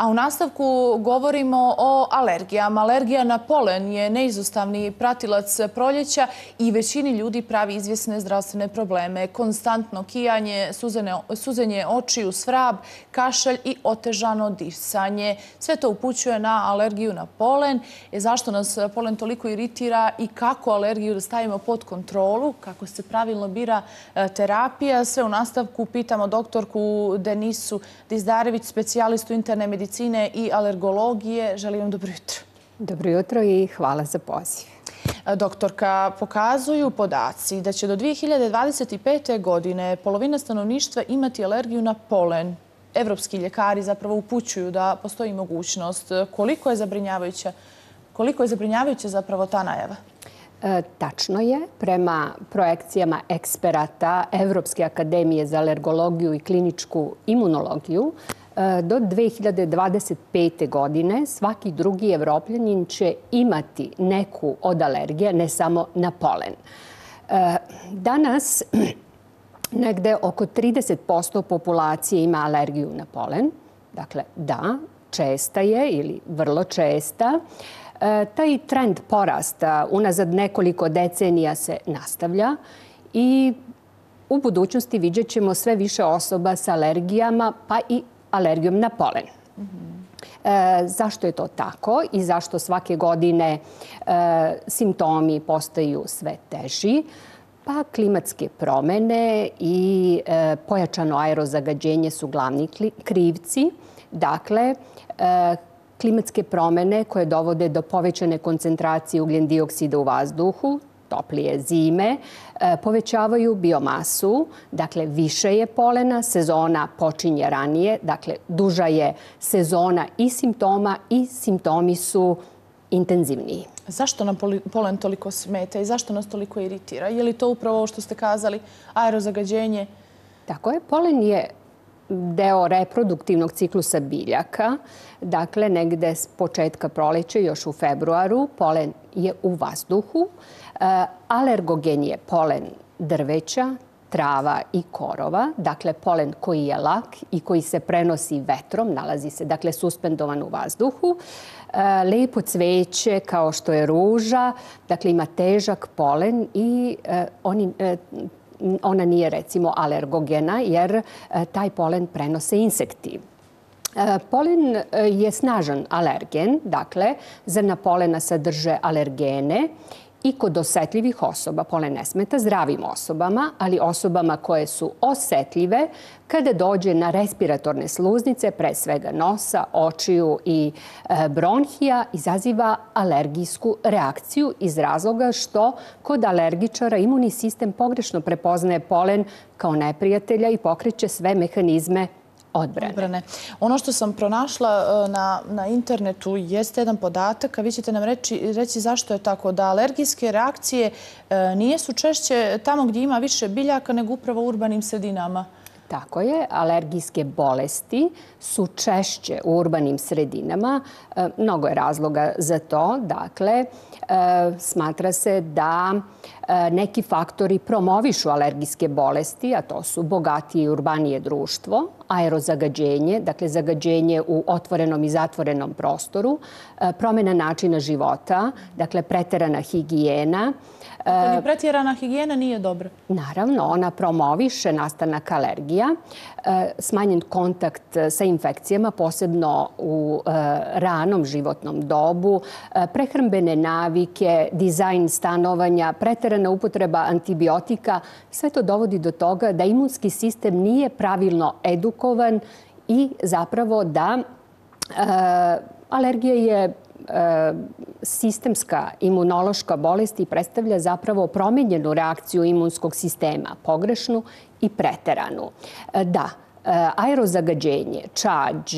A u nastavku govorimo o alergijama. Alergija na polen je neizostavni pratilac proljeća i većini ljudi pravi izvjesne zdravstvene probleme. Konstantno kijanje, suzenje očiju, svrab, kašalj i otežano disanje. Sve to upućuje na alergiju na polen. Zašto nas polen toliko iritira i kako alergiju da stavimo pod kontrolu, kako se pravilno bira terapija. Sve u nastavku pitamo doktorku Denisu Dizdarević, specijalistu interne medicine i alergologije. Želim vam dobro jutro. Dobro jutro i hvala za poziv. Doktorka, pokazuju podaci da će do 2025. godine polovina stanovništva imati alergiju na polen. Evropski ljekari zapravo upućuju da postoji mogućnost. Koliko je zabrinjavajuća zapravo ta najava? Tačno je. Prema projekcijama eksperata Evropske akademije za alergologiju i kliničku imunologiju, do 2025. godine svaki drugi Evropljanin će imati neku od alergija, ne samo na polen. Danas negde oko 30% populacije ima alergiju na polen. Dakle, da, česta je ili vrlo česta. Taj trend porasta unazad nekoliko decenija se nastavlja i u budućnosti vidjet ćemo sve više osoba sa alergijama, pa i alergijom na polen. Zašto je to tako i zašto svake godine simptomi postaju sve teži? Pa klimatske promjene i pojačano aerozagađenje su glavni krivci. Dakle, klimatske promjene koje dovode do povećane koncentracije ugljen dioksida u vazduhu, toplije zime, povećavaju biomasu, dakle više je polena, sezona počinje ranije, dakle duža je sezona i simptomi su intenzivniji. Zašto nam polen toliko smeta i zašto nas toliko iritira? Je li to upravo ovo što ste kazali, aerozagađenje? Tako je, polen je deo reproduktivnog ciklusa biljaka. Dakle, negde s početka proleća, još u februaru, polen je u vazduhu. Alergogen je polen drveća, trava i korova. Dakle, polen koji je lak i koji se prenosi vetrom, nalazi se, dakle, suspendovan u vazduhu. Lepo cveće, kao što je ruža, dakle, ima težak polen i ona nije, recimo, alergogena jer taj polen prenose insekti. Polen je snažan alergen, dakle, zrna polena sadrže alergene i kod osetljivih osoba polen ne smeta zdravim osobama, ali osobama koje su osetljive kada dođe na respiratorne sluznice, pre svega nosa, očiju i bronhija, izaziva alergijsku reakciju iz razloga što kod alergičara imunni sistem pogrešno prepoznaje polen kao neprijatelja i pokreće sve mehanizme odbrane. Ono što sam pronašla na internetu jeste jedan podatak, a vi ćete nam reći zašto je tako, da alergijske reakcije nijesu češće tamo gdje ima više biljaka nego upravo u urbanim sredinama. Tako je. Alergijske bolesti su češće u urbanim sredinama. Mnogo je razloga za to. Dakle, smatra se da neki faktori promovišu alergijske bolesti, a to su bogatije i urbanije društvo, aerozagađenje, dakle zagađenje u otvorenom i zatvorenom prostoru, promjena načina života, dakle preterana higijena. Ni pretjerana higijena nije dobra. Naravno, ona promoviše nastanak alergija, smanjen kontakt sa infekcijama, posebno u ranom životnom dobu, prehrambene navike, dizajn stanovanja, preterana upotreba antibiotika. Sve to dovodi do toga da imunski sistem nije pravilno edukovan i zapravo da alergija je sistemska imunološka bolest i predstavlja zapravo promijenjenu reakciju imunskog sistema, pogrešnu i preteranu. Da, aerozagađenje, čađ,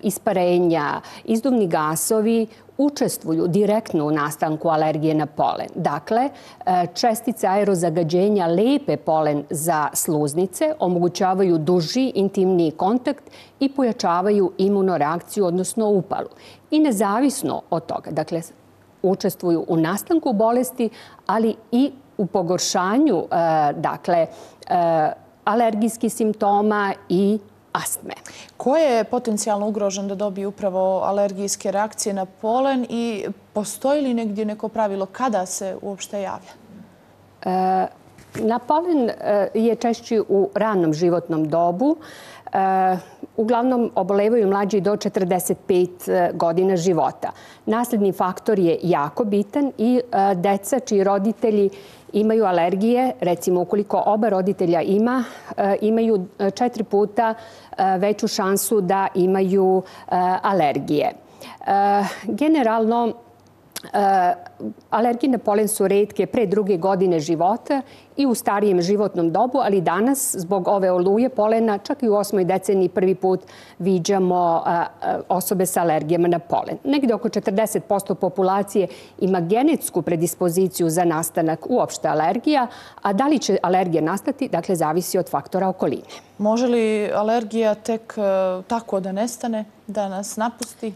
isparenja, izduvni gasovi učestvuju direktno u nastanku alergije na polen. Dakle, čestice aerozagađenja lepe polen za sluznice, omogućavaju duži, intimniji kontakt i pojačavaju imunoreakciju, odnosno upalu. I nezavisno od toga, dakle, učestvuju u nastanku bolesti, ali i u pogoršanju, dakle, alergijskih simptoma i astme. Ko je potencijalno ugrožen da dobije upravo alergijske reakcije na polen i postoji li negdje neko pravilo kada se uopšte javlja? Na polen je češći u ranom životnom dobu. Uglavnom obolevaju mlađi do 45 godina života. Nasledni faktor je jako bitan i deca čiji roditelji imaju alergije, recimo ukoliko oba roditelja imaju 4 puta veću šansu da imaju alergije. Generalno, alergije na polen su retke pre 2. godine života i u starijem životnom dobu, ali danas, zbog ove oluje polena, čak i u 8. deceniji prvi put viđamo osobe sa alergijama na polen. Negde oko 40% populacije ima genetsku predispoziciju za nastanak uopšte alergija, a da li će alergija nastati, dakle, zavisi od faktora okoline. Može li alergija tek tako da nestane, da nas napusti?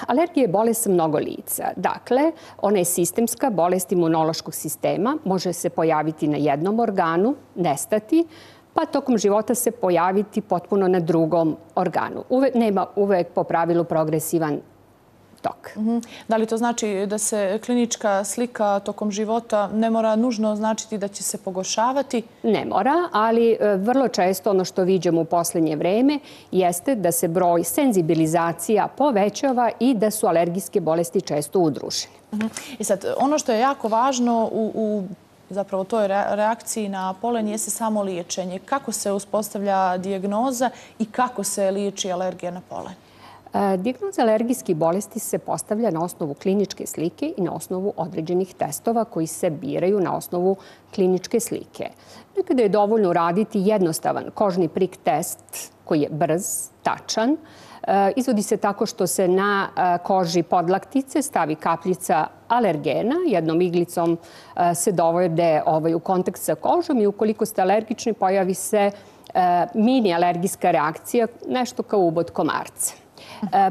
Alergija je bolest sa mnogo lica. Dakle, ona je sistemska bolest imunološkog sistema. Može se pojaviti na jednom organu, nestati, pa tokom života se pojaviti potpuno na drugom organu. Nema uvek po pravilu progresivan tok. Da li to znači da se klinička slika tokom života ne mora nužno značiti da će se pogoršavati? Ne mora, ali vrlo često ono što viđamo u poslednje vreme jeste da se broj senzibilizacija povećava i da su alergijske bolesti često udružene. I sad, ono što je jako važno u zapravo toj reakciji na polen jeste samo liječenje. Kako se uspostavlja dijagnoza i kako se liječi alergija na polen? Dijagnoza alergijskih bolesti se postavlja na osnovu kliničke slike i na osnovu određenih testova koji se biraju na osnovu kliničke slike. Nekada je dovoljno uraditi jednostavan kožni prik test koji je brz, tačan. Izvodi se tako što se na koži podlaktice stavi kapljica alergena. Jednom iglicom se dovode u kontakt sa kožom i ukoliko ste alergični pojavi se mini alergijska reakcija, nešto kao ubod komarca.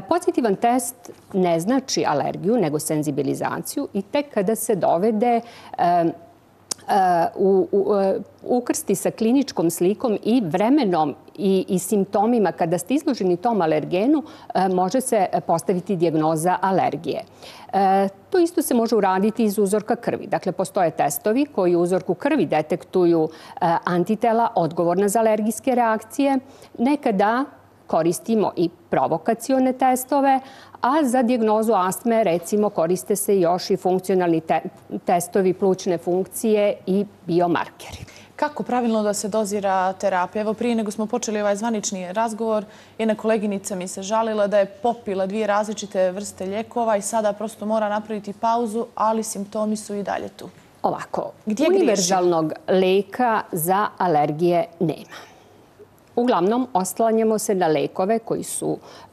Pozitivan test ne znači alergiju, nego senzibilizaciju i tek kada se dovede ukrsti sa kliničkom slikom i vremenom i simptomima kada ste izloženi tom alergenu, može se postaviti dijagnoza alergije. To isto se može uraditi iz uzorka krvi. Dakle, postoje testovi koji u uzorku krvi detektuju antitela odgovorna za alergijske reakcije. Nekada koristimo i provokacione testove, a za dijagnozu astme, recimo, koriste se još i funkcionalni testovi plućne funkcije i biomarkeri. Kako pravilno da se dozira terapija? Evo, prije nego smo počeli ovaj zvanični razgovor, jedna koleginica mi se žalila da je popila 2 različite vrste lijekova i sada prosto mora napraviti pauzu, ali simptomi su i dalji tu. Ovako, univerzalnog leka za alergije nema. Uglavnom, oslanjamo se na lekove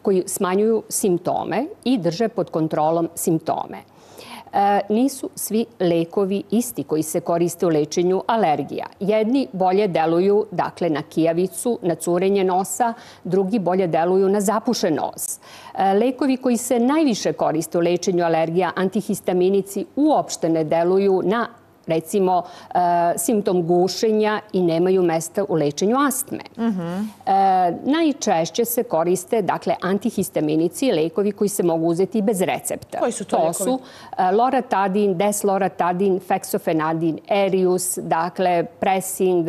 koji smanjuju simptome i drže pod kontrolom simptome. Nisu svi lekovi isti koji se koriste u lečenju alergija. Jedni bolje deluju, dakle, na kijavicu, na curenje nosa, drugi bolje deluju na zapušen nos. Lekovi koji se najviše koriste u lečenju alergija, antihistaminici, uopšte ne deluju na recimo, simptom gušenja i nemaju mesta u lečenju astme. Najčešće se koriste, dakle, antihistaminici, lekovi koji se mogu uzeti bez recepta. Koji su to lekovi? To su loratadin, desloratadin, feksofenadin, erius, dakle, pressing,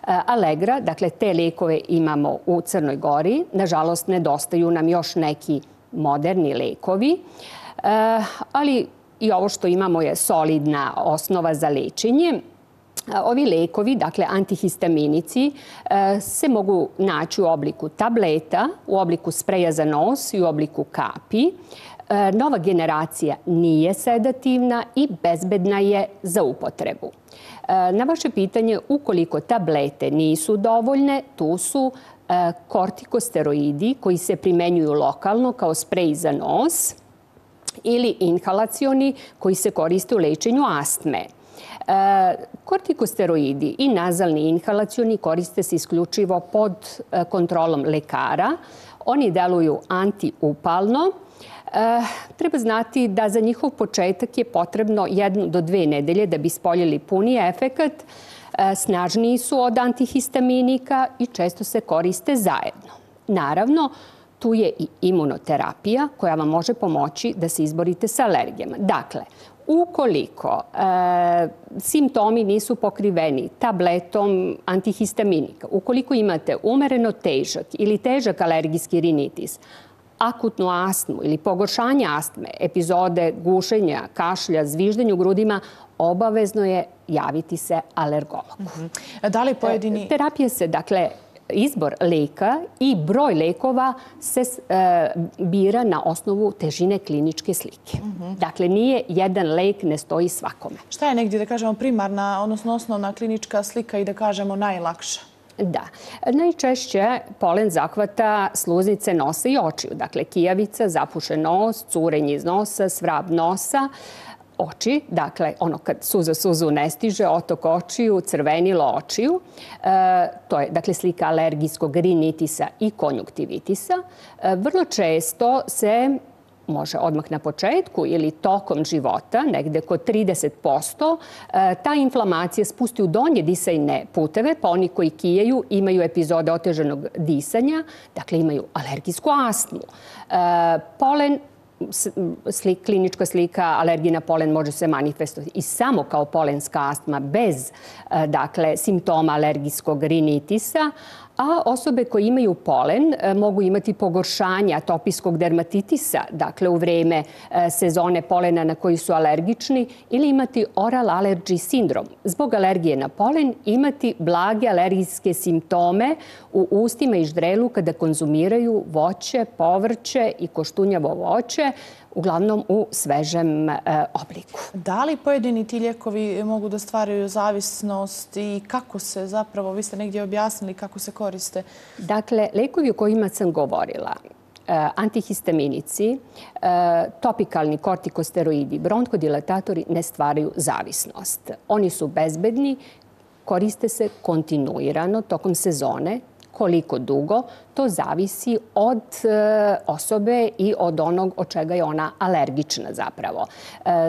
allegra. Dakle, te lekove imamo u Crnoj Gori. Nažalost, nedostaju nam još neki moderni lekovi, ali i ovo što imamo je solidna osnova za lečenje. Ovi lekovi, dakle antihistaminici, se mogu naći u obliku tableta, u obliku spreja za nos i u obliku kapi. Nova generacija nije sedativna i bezbedna je za upotrebu. Na vaše pitanje, ukoliko tablete nisu dovoljne, tu su kortikosteroidi koji se primenjuju lokalno kao sprej za nos ili inhalacioni koji se koriste u lečenju astme. Kortikosteroidi i nazalni inhalacioni koriste se isključivo pod kontrolom lekara. Oni deluju antiupalno. Treba znati da za njihov početak je potrebno 1 do 2 nedelje da bi ispoljili puni efekat. Snažniji su od antihistaminika i često se koriste zajedno. Naravno, tu je i imunoterapija koja vam može pomoći da se izborite sa alergijama. Dakle, ukoliko simptomi nisu pokriveni tabletom antihistaminika, ukoliko imate umereno težak ili težak alergijski rinitis, akutnu astmu ili pogoršanje astme, epizode gušenja, kašlja, zviždenja u grudima, obavezno je javiti se alergologu. Da li pojedini... Terapija se, dakle, izbor leka i broj lekova se bira na osnovu težine kliničke slike. Dakle, nije jedan lek, ne stoji svakome. Šta je negdje, da kažemo, primarna, odnosno osnovna klinička slika i da kažemo najlakša? Da. Najčešće polen zahvata sluznice nosa i očiju. Dakle, kijavica, zapušen nos, curenje iz nosa, svrab nosa, oči, dakle, ono kad suza suzu ne stiže, otok očiju, crvenilo očiju. To je, dakle, slika alergijskog rinitisa i konjuktivitisa. Vrlo često se može odmah na početku ili tokom života, negde kod 30%, ta inflamacija spusti u donje disajne puteve, pa oni koji kijaju imaju epizode otežanog disanja, dakle imaju alergijsku astmu. Polen, klinička slika alergije na polen može se manifestovati i samo kao polenska astma bez, dakle, simptoma alergijskog rinitisa, a osobe koje imaju polen mogu imati pogoršanje atopijskog dermatitisa, dakle u vreme sezone polena na koji su alergični, ili imati oral allergy sindrom. Zbog alergije na polen imati blage alergijske simptome u ustima i ždrelu kada konzumiraju voće, povrće i koštunjavo voće, uglavnom u svežem obliku. Da li pojedini ti lijekovi mogu da stvaraju zavisnost i kako se zapravo, vi ste negdje objasnili kako se koriste? Dakle, lijekovi o kojima sam govorila, antihistaminici, topikalni kortikosteroidi, bronhodilatatori ne stvaraju zavisnost. Oni su bezbedni, koriste se kontinuirano tokom sezone. Koliko dugo, to zavisi od osobe i od onog od čega je ona alergična zapravo.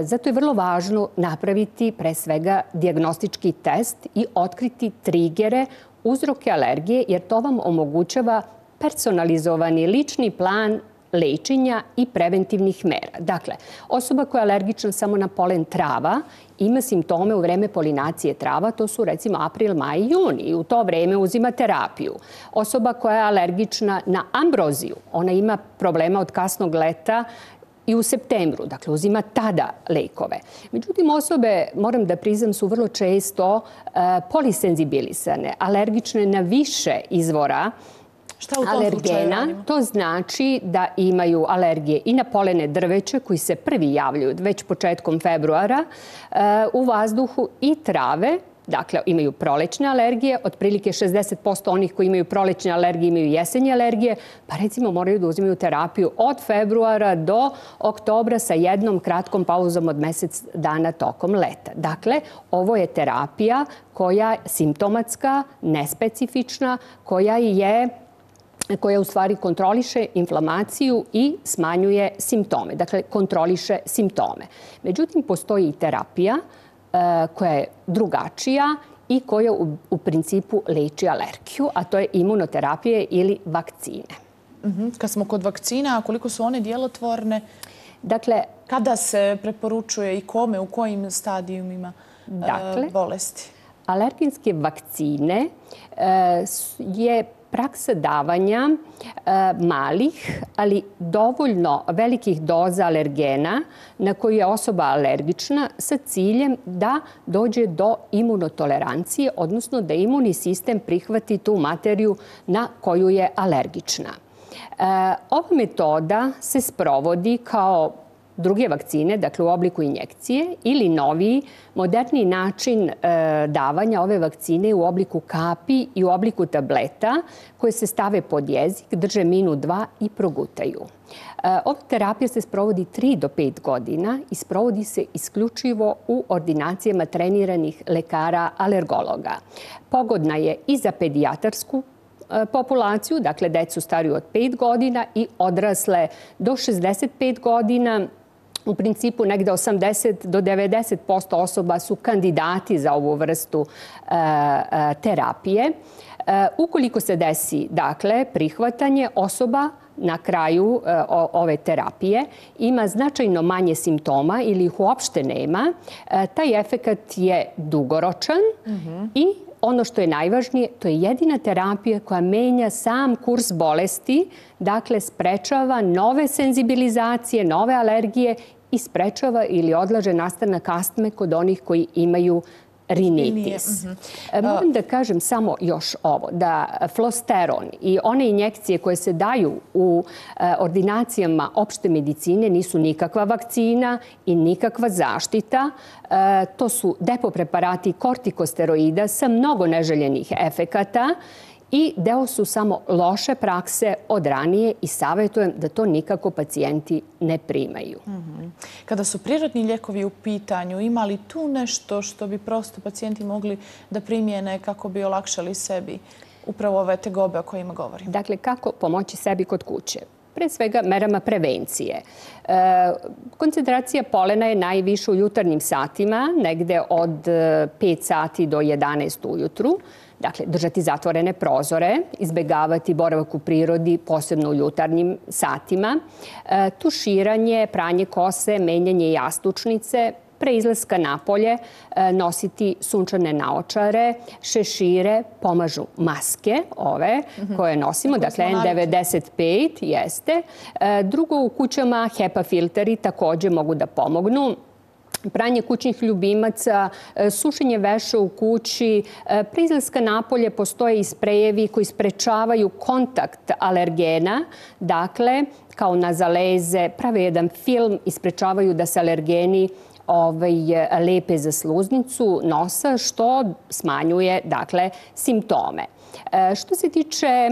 Zato je vrlo važno napraviti pre svega dijagnostički test i otkriti trigere, uzroke alergije, jer to vam omogućava personalizovani lični plan lečenja i preventivnih mera. Dakle, osoba koja je alergična samo na polen trava ima simptome u vreme polinacije trava, to su recimo april, maj i juni, i u to vreme uzima terapiju. Osoba koja je alergična na ambroziju, ona ima problema od kasnog leta i u septembru, dakle uzima tada lekove. Međutim, osobe, moram da priznam, su vrlo često polisenzibilisane, alergične na više izvora alergena. To znači da imaju alergije i na polene drveća koji se prvi javljaju već početkom februara u vazduhu i trave. Dakle, imaju prolećne alergije, otprilike 60% onih koji imaju prolećne alergije imaju jesenje alergije, pa recimo moraju da uzimaju terapiju od februara do oktobra sa jednom kratkom pauzom od mjesec dana tokom leta. Dakle, ovo je terapija koja je simptomatska, nespecifična, koja u stvari kontroliše inflamaciju i smanjuje simptome. Dakle, kontroliše simptome. Međutim, postoji i terapija koja je drugačija i koja u principu leči alergiju, a to je imunoterapija ili vakcine. Kad smo kod vakcina, koliko su one djelotvorne? Dakle, kada se preporučuje i kome, u kojim stadijumima bolesti? Alergenske vakcine je praksa davanja malih, ali dovoljno velikih doza alergena na koju je osoba alergična sa ciljem da dođe do imunotolerancije, odnosno da imunni sistem prihvati tu materiju na koju je alergična. Ova metoda se sprovodi kao druge vakcine, dakle u obliku injekcije, ili noviji, moderniji način davanja ove vakcine u obliku kapi i u obliku tableta koje se stave pod jezik, drže minut, dva i progutaju. Ova terapija se sprovodi 3 do 5 godina i sprovodi se isključivo u ordinacijama treniranih lekara alergologa. Pogodna je i za pedijatarsku populaciju, dakle decu stariju od 5 godina i odrasle do 65 godina. U principu negde 80 do 90% osoba su kandidati za ovu vrstu terapije. Ukoliko se desi, dakle, prihvatanje, osoba na kraju ove terapije ima značajno manje simptoma ili ih uopšte nema, taj efekat je dugoročan i ono što je najvažnije, to je jedina terapija koja menja sam kurs bolesti, dakle sprečava nove senzibilizacije, nove alergije i sprečava ili odlaže nastanak astme kod onih koji imaju rinitis. Moram da kažem samo još ovo, da flosteron i one injekcije koje se daju u ordinacijama opšte medicine nisu nikakva vakcina i nikakva zaštita. To su depo preparati kortikosteroida sa mnogo neželjenih efekata i deo su samo loše prakse od ranije i savjetujem da to nikako pacijenti ne primaju. Kada su prirodni lijekovi u pitanju, ima li tu nešto što bi prosto pacijenti mogli da primijene kako bi olakšali sebi upravo ove tegobe o kojima govorim? Dakle, kako pomoći sebi kod kuće? Pre svega merama prevencije. Koncentracija polena je najviša u jutarnjim satima, negde od 5 sati do 11 ujutru. Dakle, držati zatvorene prozore, izbegavati boravak u prirodi, posebno u jutarnjim satima, tuširanje, pranje kose, menjanje jastučnice, pre izlaska napolje nositi sunčane naočare, šešire, pomažu maske, ove koje nosimo, dakle N95 jeste. Drugo, u kućama HEPA filteri također mogu da pomognu. Pranje kućnih ljubimaca, sušenje veša u kući, pre izlaska napolje postoje i sprejevi koji sprečavaju kontakt alergena, dakle, kao nazaleze, prave jedan film i sprečavaju da se alergeni lepe za sluznicu nosa, što smanjuje, dakle, simptome. Što se tiče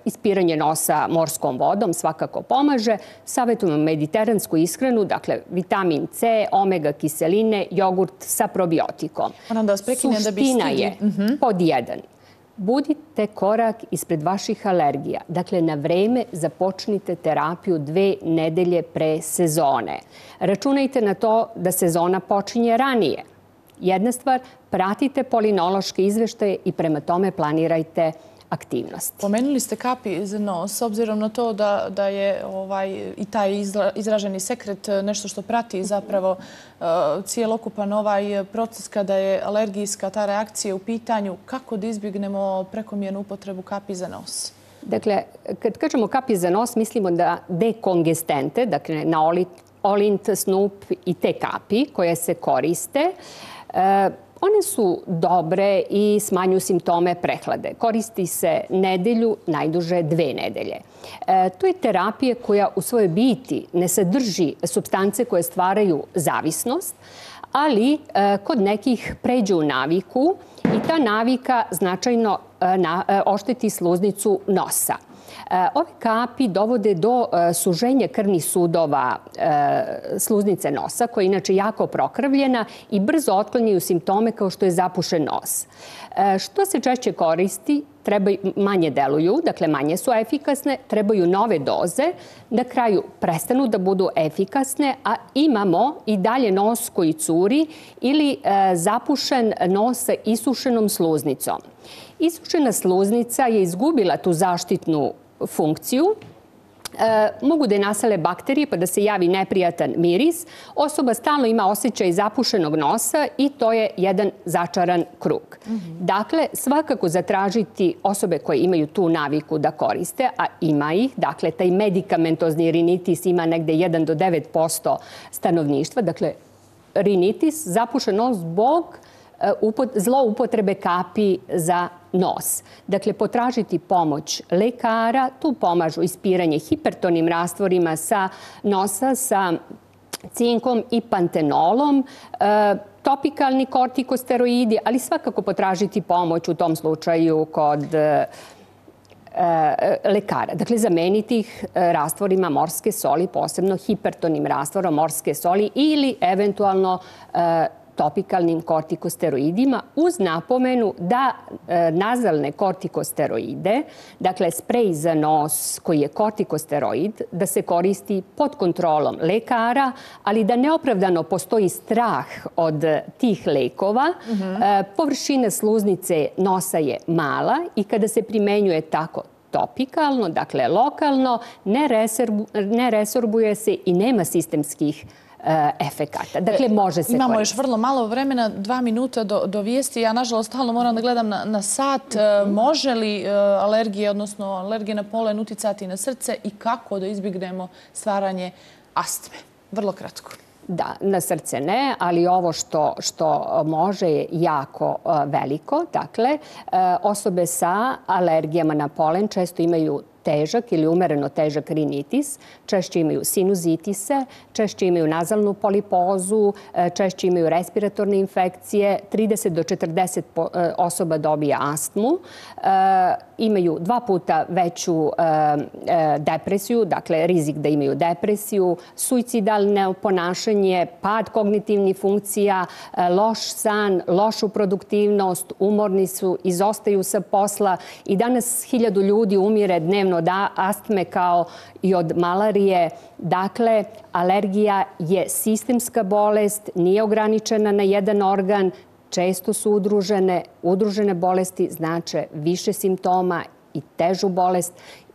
ispiranja nosa morskom vodom, svakako pomaže. Savjetujemo mediteransku ishranu, dakle vitamin C, omega kiseline, jogurt sa probiotikom. Suština je pod 1. Budite korak ispred vaših alergija. Dakle, na vreme započnite terapiju 2 nedelje pre sezone. Računajte na to da sezona počinje ranije. Jedna stvar, pratite polinološke izveštaje i prema tome planirajte aktivnosti. Pomenuli ste kapi za nos, s obzirom na to da je i taj izraženi sekret nešto što prati zapravo cijelokupan ovaj proces kada je alergijska ta reakcija u pitanju, kako da izbjegnemo prekomjernu upotrebu kapi za nos? Dakle, kad kažemo kapi za nos, mislimo da dekongestente, dakle na Olint, Snup i te kapi koje se koriste, one su dobre i smanjuju simptome prehlade. Koristi se nedelju, najduže 2 nedelje. To je terapija koja u svojoj biti ne sadrži supstance koje stvaraju zavisnost, ali kod nekih pređe u naviku i ta navika značajno ošteti sluznicu nosa. Ove kapi dovode do suženja krvnih sudova sluznice nosa, koja je inače jako prokrvljena i brzo otklanjaju simptome kao što je zapušen nos. Što se češće koristi, manje deluju, dakle manje su efikasne, trebaju nove doze, na kraju prestanu da budu efikasne, a imamo i dalje nos koji curi ili zapušen nos sa isušenom sluznicom. Isušena sluznica je izgubila tu zaštitnu funkciju. Mogu da je nasale bakterije pa da se javi neprijatan miris. Osoba stalno ima osjećaj zapušenog nosa i to je jedan začaran krug. Dakle, svakako zatražiti osobe koje imaju tu naviku da koriste, a ima ih, dakle, taj medikamentozni rinitis ima negde 1 do 9% stanovništva, dakle, rinitis, zapušen nos zbog zloupotrebe kapi za nos. Dakle, potražiti pomoć lekara, tu pomažu ispiranje hipertonim rastvorima sa nosa, sa cinkom i pantenolom, topikalni kortikosteroidi, ali svakako potražiti pomoć u tom slučaju kod lekara. Dakle, zameniti ih rastvorima morske soli, posebno hipertonim rastvorom morske soli ili eventualno topikalnim kortikosteroidima uz napomenu da nazalne kortikosteroide, dakle sprej za nos koji je kortikosteroid, da se koristi pod kontrolom lekara, ali da neopravdano postoji strah od tih lekova. Površina sluznice nosa je mala i kada se primenjuje tako topikalno, dakle lokalno, ne resorbuje se i nema sistemskih efekata. Dakle, može se koristiti. Imamo još vrlo malo vremena, 2 minuta do vijesti. Ja, nažalost, stalno moram da gledam na sat. Može li alergije, odnosno alergije na polen, uticati na srce i kako da izbjegnemo stvaranje astme? Vrlo kratko. Da, na srce ne, ali ovo što može je jako veliko. Dakle, osobe sa alergijama na polen često imaju težak ili umereno težak rinitis, češće imaju sinuzitise, češće imaju nazalnu polipozu, češće imaju respiratorne infekcije, 30 do 40 osoba dobija astmu, imaju 2 puta veću depresiju, dakle rizik da imaju depresiju, suicidalno ponašanje, pad kognitivnih funkcija, loš san, lošu produktivnost, umorni su, izostaju sa posla i danas 1000 ljudi umire dnevno od astme kao i od malarije. Dakle, alergija je sistemska bolest, nije ograničena na jedan organ, često su udružene. Udružene bolesti znače više simptoma i težu bolest.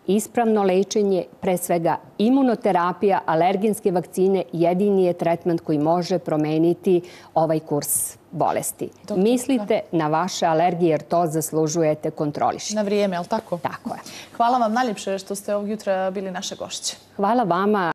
Ispravno lečenje, pre svega imunoterapija, alergenske vakcine, jedini je tretman koji može promeniti ovaj kurs bolesti. Mislite na vaše alergije jer to zaslužujete, kontrolišite. Na vrijeme, je li tako? Tako je. Hvala vam najljepše što ste ovog jutra bili naše gošće. Hvala vama.